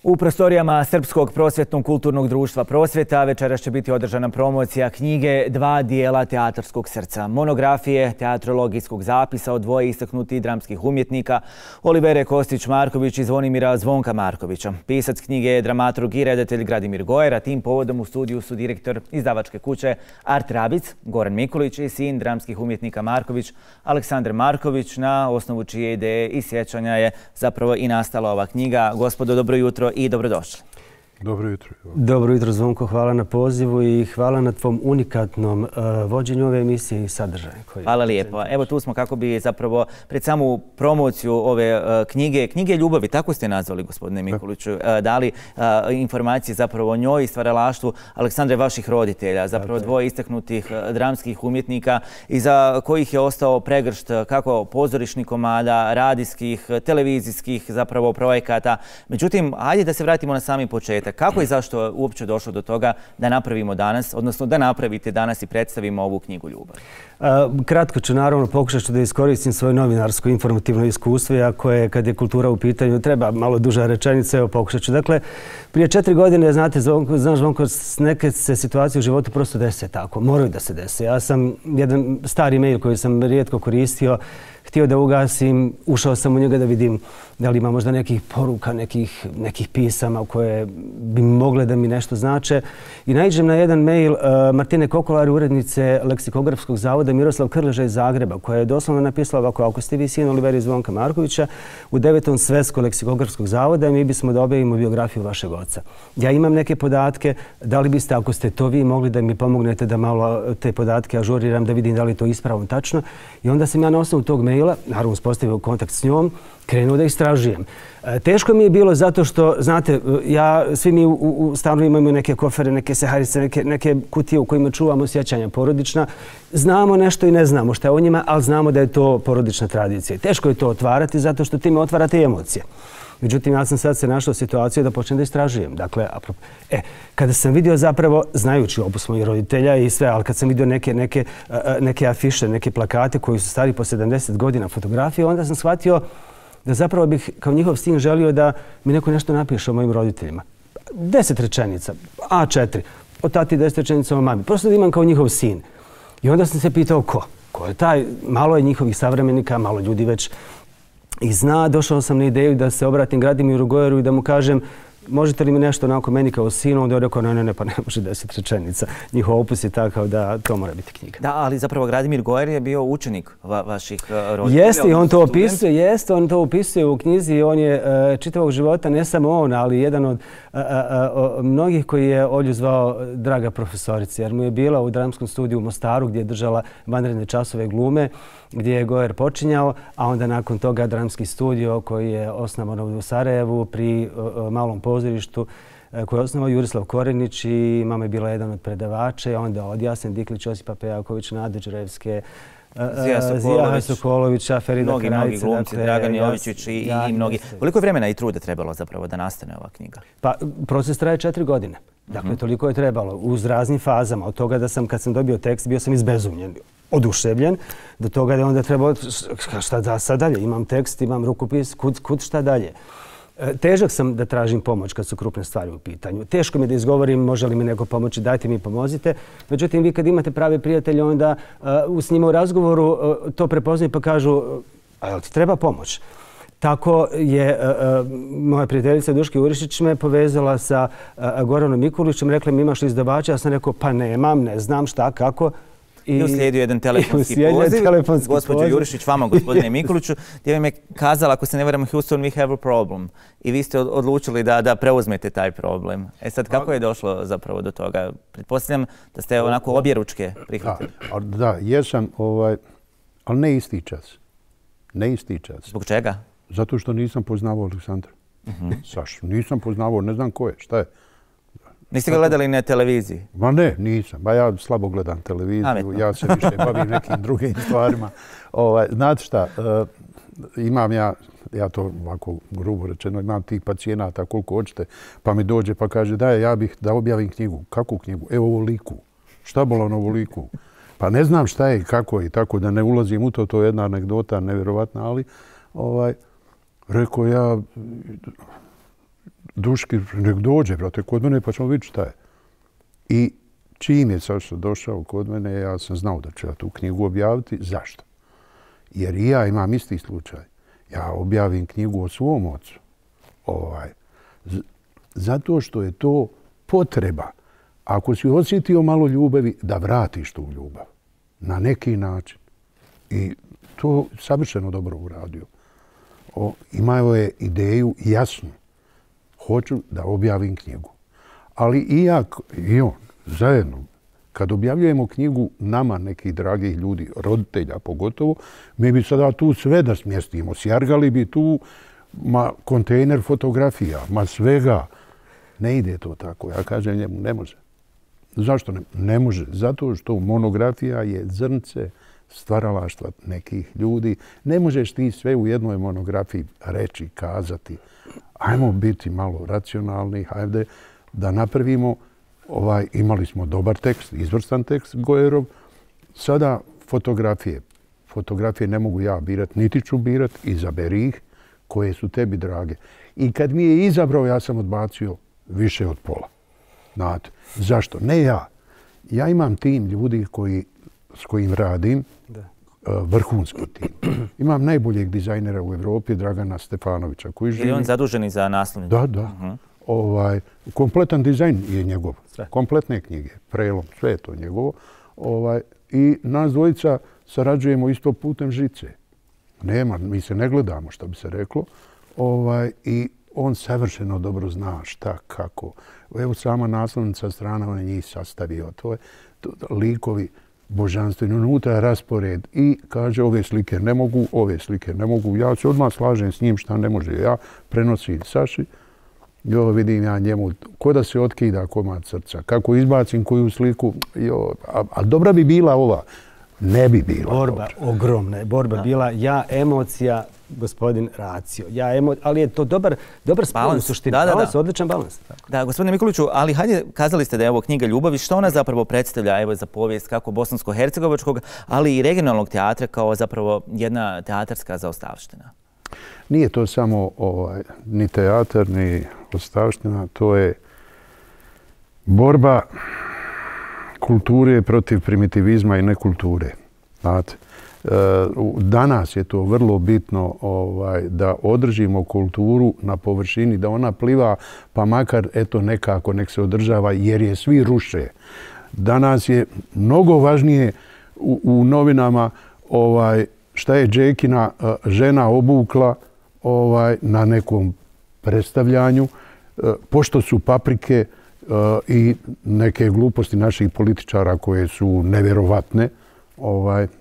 U prostorijama Srpskog prosvjetnog kulturnog društva Prosvjeta večeras će biti održana promocija knjige Dva dijela teatarskog srca, monografije teatrologijskog zapisa od dvoje istaknutih dramskih umjetnika Olivere Kostić-Marković i Zvonimira Zvonka Markovića. Pisac knjige je dramaturg i redatelj Gradimir Gojer, a tim povodom u studiju su direktor izdavačke kuće Art Rabic, Goran Mikulić i sin dramskih umjetnika Marković, Aleksandar Marković, na osnovu čije ideje i sjećanja je zapravo i nastala ova knjiga. Gospodo, dobro jutro i dobrodošli. Dobro jutro. Dobro jutro, Zvonko. Hvala na pozivu i hvala na tvom unikatnom vođenju ove emisije i sadržaja. Hvala lijepo. Evo tu smo kako bi zapravo pred samu promociju ove knjige ljubavi, tako ste nazvali, gospodine Mikuliću, dali informacije zapravo o njoj i stvaralaštvu Aleksandre, vaših roditelja, zapravo dvoje istaknutih dramskih umjetnika iza kojih je ostao pregršt kako pozorišnih komada, radijskih, televizijskih zapravo projekata. Međutim, ajde da se vratimo na sami početak. Kako i zašto uopće došlo do toga da napravimo danas, odnosno da napravite danas i predstavimo ovu knjigu ljubavi? Kratko ću, naravno, pokušat ću da iskoristim svoje novinarsko informativno iskustvo, iako je, kad je kultura u pitanju, treba malo duža rečenica, evo pokušat ću. Dakle, prije 4 godine, znate, znaš, Zvonko, neke se situacije u životu prosto dese tako, moraju da se dese. Ja sam jedan stari mail koji sam rijetko koristio, htio da ugasim, ušao sam u njega da vidim da li ima možda nekih poruka, nekih pisama koje bi mogle da mi nešto znače. I naiđem na jedan mail Martine Kokolari, urednice Leksikografskog zavoda Miroslav Krleža iz Zagreba, koja je doslovno napisala ovako: ako ste vi sin Oliveri Zvonka Markovića u 9. Svetskog leksikografskog zavoda, mi bismo da objavimo biografiju vašeg oca. Ja imam neke podatke, da li biste, ako ste to vi, mogli da mi pomognete da malo te podatke ažuriram, da vidim da li je to ispravno tačno. I onda sam ja na osnovu tog maila, naravno uspostavio kontakt s njom, krenuo da istražujem. Teško mi je bilo zato što, znate, svi mi u stanu imamo neke kofere, neke seharice, neke kutije u kojima čuvamo sjećanja porodična. Znamo nešto i ne znamo šta je o njima, ali znamo da je to porodična tradicija. Teško je to otvarati zato što time otvarate emocije. Međutim, ja sam sad se našao u situaciju da počnem da istražujem. Dakle, kada sam vidio zapravo, znajući opus mojih roditelja i sve, ali kad sam vidio neke afiše, neke plakate koji su stari po 70 godina fotografije, onda sam shvatio da zapravo bih kao njihov sin želio da mi neko nešto napiše o mojim roditeljima. 10 rečenica, A4, o tati 10 rečenica o mami. Prosto da imam kao njihov sin. I onda sam se pitao ko? Ko je taj? Malo je njihovih savremenika, malo ljudi već i zna. Došao sam na ideju da se obratim Gradimiru Gojeru i da mu kažem: možete li mi nešto onako meni kao sinu? Onda je rekao: ne, pa ne može 10 rečenica. Njihov opus je takav da to mora biti knjiga. Da, ali zapravo Gradimir Gojer je bio učenik vaših roditelja. Jeste, on to opisuje u knjizi. On je čitavog života, ne samo on, ali jedan od mnogih koji je Olju zvao draga profesorica, jer mu je bila u dramskom studiju u Mostaru gdje je držala vanredne časove glume, gdje je Gojer počinjao, a onda nakon toga dramski studio koji je osnovan u Sarajevu pri Malom pozorištu koji je osnovao Jurislav Korenić i mama je bila jedan od predavača, i onda od Jasen Diklić, Josipa Pejaković, Nade Đurevske, Zija Sokolovića, Ferida Karajica. Mnogi glumci, Dragan Jovičić i mnogi. Koliko je vremena i truda trebalo zapravo da nastane ova knjiga? Pa, proces traje 4 godine. Dakle, toliko je trebalo uz raznim fazama. Od toga da sam, kad sam dobio tekst, bio sam izbezumljen, oduševljen, do toga da je onda trebalo šta sad dalje. Imam tekst, imam rukopis, kud šta dalje. Težak sam da tražim pomoć kad su krupne stvari u pitanju. Teško mi da izgovorim: može li mi neko pomoći, dajte mi, pomozite. Međutim, vi kad imate prave prijatelje, onda s njima u razgovoru to prepoznaju pa kažu: a jel ti treba pomoć? Tako je moja prijateljica Duška Urišić me povezala sa Goranom Mikulićem, rekla mi: imaš li izdavača? Ja sam rekao: pa nemam, ne znam šta, kako. I uslijedio jedan telefonski poziv, gospođo Jurišić, vama, gospodine Mikuliću, gdje mi je kazala, ako se ne varam, Houston, we have a problem. I vi ste odlučili da preuzmete taj problem. Sad, kako je došlo zapravo do toga? Pretpostavljam da ste onako objeručke prihvatili. Da, jesam, ali ne isti čas. Ne isti čas. Zbog čega? Zato što nisam poznavao Aleksandra. Saš, nisam poznavao, ne znam ko je, šta je. Niste ga gledali na televiziji? Ma ne, nisam. Ba ja slabo gledam televiziju, ja se više bavim nekim drugim stvarima. Znate šta, imam ja to ovako grubo rečeno, imam tih pacijenata koliko hoćete, pa mi dođe pa kaže: daj, ja bih da objavim knjigu. Kakvu knjigu? Evo ovoliku. Šta bolan ovoliku? Pa ne znam šta je i kako je, tako da ne ulazim u to, to je jedna anegdota nevjerovatna, ali rekao ja, Duški, nek dođe, brate, kod mene pa ćemo vidjeti šta je. I čim je Saša došao kod mene, ja sam znao da ću ja tu knjigu objaviti. Zašto? Jer i ja imam isti slučaj. Ja objavim knjigu o svom ocu. Zato što je to potreba. Ako si osjetio malo ljubavi, da vratiš tu ljubav. Na neki način. I to savršeno dobro uradio. Imao je ideju jasnu. Hoću da objavim knjigu. Ali i on, zajedno, kad objavljujemo knjigu nama, nekih dragih ljudi, roditelja pogotovo, mi bi sada tu sve da smjestimo. Sjargali bi tu kontejner fotografija, svega. Ne ide to tako. Ja kažem njemu, ne može. Zašto ne može? Zato što monografija je zrnce stvaralaštva nekih ljudi. Ne možeš ti sve u jednoj monografiji reći, kazati. Ajmo biti malo racionalni, hajde da napravimo. Imali smo dobar tekst, izvrstan tekst Gojerov. Sada fotografije. Fotografije ne mogu ja birati, niti ću birati. Izaberi ih koje su tebi drage. I kad mi je izabrao, ja sam odbacio više od pola. Znate, zašto? Ne ja. Ja imam tim ljudi s kojim radim, vrhunski tim. Imam najboljeg dizajnera u Evropi, Dragana Stefanovića. Je on zaduženi za naslovnicu? Da. Kompletan dizajn je njegov. Kompletne knjige, prelom, sve je to njegovo. I nas dvojica sarađujemo isto putem žice. Mi se ne gledamo, što bi se reklo. I on savršeno dobro zna šta, kako. Evo sama naslovnica strana, on je njih sastavio. To je likovi božanstveni, unutra raspored. I kaže, ove slike ne mogu, ove slike ne mogu. Ja se odmah slažem s njim šta ne može. Ja prenosim Saši. Vidim ja njemu, ko da se otkida komad srca. Kako izbacim koju sliku. A dobra bi bila ova. Ne bi bila. Borba ogromna je. Borba bila emocija, gospodin racio. Ali je to dobar spol u suštini. Balans, odličan balans. Da, gospodine Mikuliću, ali hajde, kazali ste da je ovo knjiga ljubavi. Što ona zapravo predstavlja za povijest kako bosansko-hercegovačkog, ali i regionalnog teatra kao zapravo jedna teatarska zaostavština? Nije to samo ni teatar, ni ostavština. To je borba kulture protiv primitivizma i nekulture. Danas je to vrlo bitno da održimo kulturu na površini, da ona pliva, pa makar nekako nek se održava, jer je svi ruše. Danas je mnogo važnije u novinama šta je Džekina žena obukla na nekom predstavljanju, pošto su paprike i neke gluposti naših političara koje su nevjerovatne,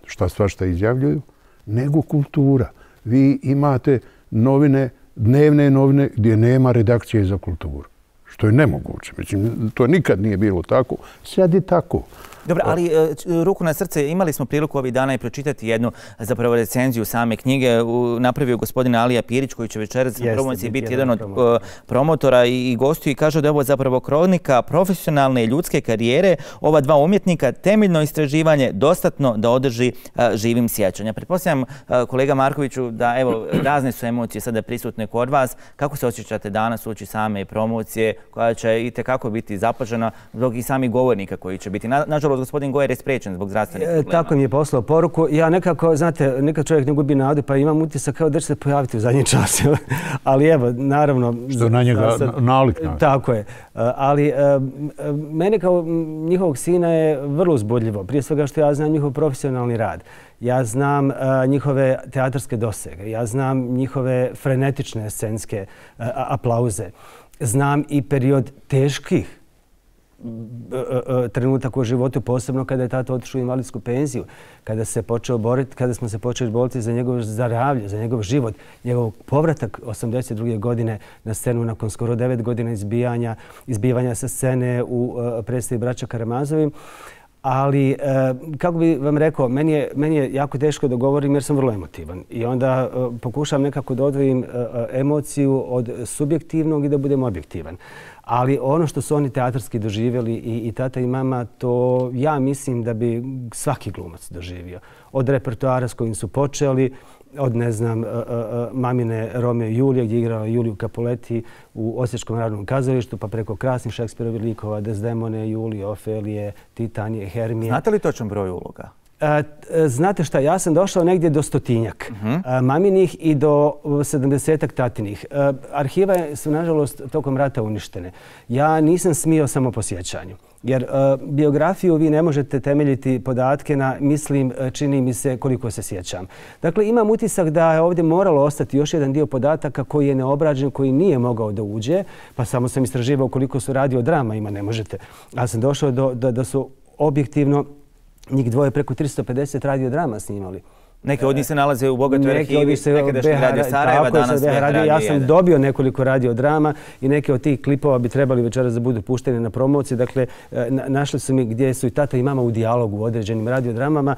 šta svašta izjavljuju, nego kultura. Vi imate novine, dnevne novine gdje nema redakcije za kulturu. Što je nemoguće. Mislim, to nikad nije bilo tako. Sad je tako. Dobro, ali ruku na srce, imali smo priliku ovih dana i pročitati jednu zapravo recenziju same knjige. Napravio gospodin Alija Pirić, koji će večeras na promociji biti jedan od promotora i gostiju, i kaže da je ovo zapravo kronika profesionalne i ljudske karijere ova dva umjetnika, temeljno istraživanje, dostatno da održi živim sjećanja. Pretpostavljam, kolega Markoviću, da evo, razne su emocije sada prisutne kod vas. Kako se osjećate danas uoči same promocije, koja će itekako biti zapažena zbog i samih govornika koji će biti? Nažalost, gospodin Gojer je sprečen zbog zdravstvenih problema. Tako mi je poslao poruku. Ja nekako, znate, nekad čovjek ne gubi nadu, pa imam utisak kao da će se pojaviti u zadnji čas. Ali evo, naravno... Što na njega nalik. Tako je. Ali mene kao njihovog sina je vrlo uzbudljivo. Prije svega što ja znam njihov profesionalni rad. Ja znam njihove teatarske dosege. Ja znam njihove frenetične scenske aplauze. Znam i period teških trenutak u životu, posebno kada je tata otišao u invalidsku penziju, kada smo se počeli boriti za njegov zdravlje, za njegov život, njegov povratak 82. godine na scenu nakon skoro 9 godina izbivanja sa scene u predstavi Braća Karamazovi. Ali, kako bi vam rekao, meni je jako teško da govorim jer sam vrlo emotivan. I onda pokušam nekako da odvojim emociju od subjektivnog i da budem objektivan. Ali ono što su oni teatarski doživjeli i tata i mama, to ja mislim da bi svaki glumac doživio. Od repertoara s kojim su počeli, od, ne znam, mamine Romeo i Julije, gdje je igrala Juliju Capuletti u Osječkom narodnom kazalištu, pa preko krasnih Šekspirovih likova, Desdemone, Julije, Ofelije, Titanije, Hermije. Znate li točan broj uloga? Znate šta, ja sam došao negdje do 100-tinjak maminih i do 70-ak tatinih. Arhive su, nažalost, tokom rata uništene. Ja nisam smio samo po sjećanju. Jer biografiju vi ne možete temeljiti podatke na, mislim, čini mi se koliko se sjećam. Dakle, imam utisak da je ovdje moralo ostati još jedan dio podataka koji je neobrađen, koji nije mogao da uđe, pa samo sam istraživao koliko su radiodrama ima, ne možete. Ja sam došao da su objektivno njih dvoje preko 350 radiodrama snimali. Neke od njih se nalaze u bogatoj arhivi, nekadašnji Radio Sarajeva, danas Radio 1. Ja sam dobio nekoliko radiodrama i neke od tih klipova bi trebali večeras da budu pušteni na promociji. Dakle, našli su mi gdje su i tata i mama u dijalogu u određenim radiodramama.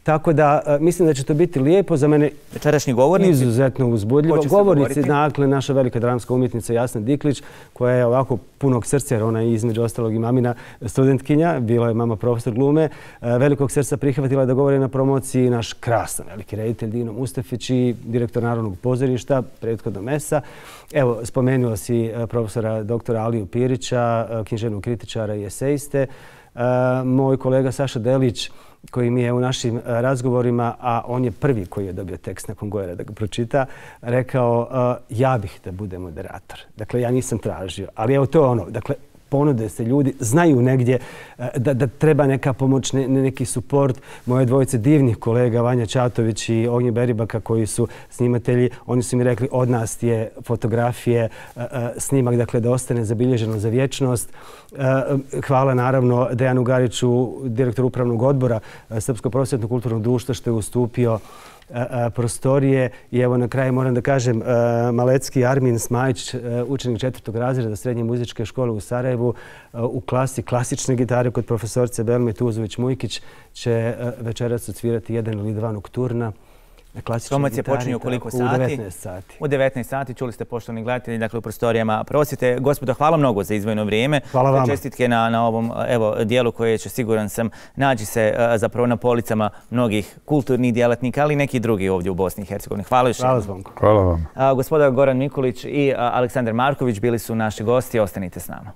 Tako da mislim da će to biti lijepo za mene. Večerašnji govornici? Izuzetno uzbudljivo. Govornici, dakle, naša velika dramska umjetnica Jasna Diklić, koja je ovako punog srca, jer ona je između ostalog i mamina studentkinja, bila je mama profesor glume, velikog srca prihvatila da govori na promociji naš krasan veliki reditelj Dino Mustafić i direktor Narodnog pozorišta, prethodno MES-a. Evo, spomenuo si profesora doktora Aliju Pirića, književnog kritičara i esejiste. Moj kolega Saša Delić, koji mi je u našim razgovorima, a on je prvi koji je dobio tekst nakon Gojera da ga pročita, rekao ja bih da bude moderator. Dakle, ja nisam tražio, ali evo to je ono. Dakle, ponude se ljudi, znaju negdje da treba neka pomoć, neki suport. Moje dvojice divnih kolega, Vanja Čatović i Ognje Beribaka, koji su snimatelji, oni su mi rekli od nas je fotografije, snimak, dakle, da ostane zabilježeno za vječnost. Hvala naravno Dejanu Gariću, direktoru upravnog odbora Srpskog prosvjetnog kulturnog društva, što je ustupio prostorije. I evo na kraju moram da kažem, Malecki Armin Smajić, učenik 4. razreda Srednje muzičke škole u Sarajevu, u klasi klasične gitare kod profesorce Belme Tuzović-Mujkić, će večeras odsvirati jedan ili dva nokturna. Promocija počinje u koliko sati? U 19 sati. U 19 sati, čuli ste poštovani gledatelji, dakle u prostorijama prosvjete. Gospodo, hvala mnogo za izdvojeno vrijeme. Hvala vama. Čestitke na ovom dijelu koje će, siguran sam, naći se zapravo na policama mnogih kulturnih djelatnika, ali i neki drugi ovdje u Bosni i Hercegovini. Hvala još. Hvala Zvonko. Hvala vam. Gospoda Goran Mikulić i Aleksandar Marković bili su naši gosti. Ostanite s nama.